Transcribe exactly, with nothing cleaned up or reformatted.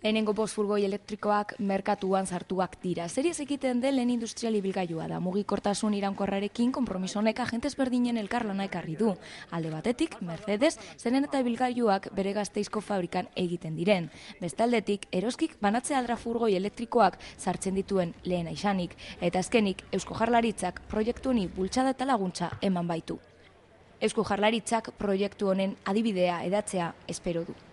Lehenengo bost furgoi elektrikoak merkatuan sartuak dira. Zeri ez egiten den lehen industrial ibilgailua da. Mugikortasun iraunkorrarekin konpromiso honek agentes berdinen elkarlana ekarri du. Alde batetik, Mercedes, zeren eta ibilgailuak bere Gasteizko fabrikan egiten diren. Bestaldetik, Eroskik banatzea aldra furgoi elektrikoak sartzen dituen lehena izanik. Eta azkenik, Eusko Jaurlaritzak proiektu honi bultzada eta laguntza eman baitu. Eusko Jaurlaritzak proiektu honen adibidea edatzea espero du.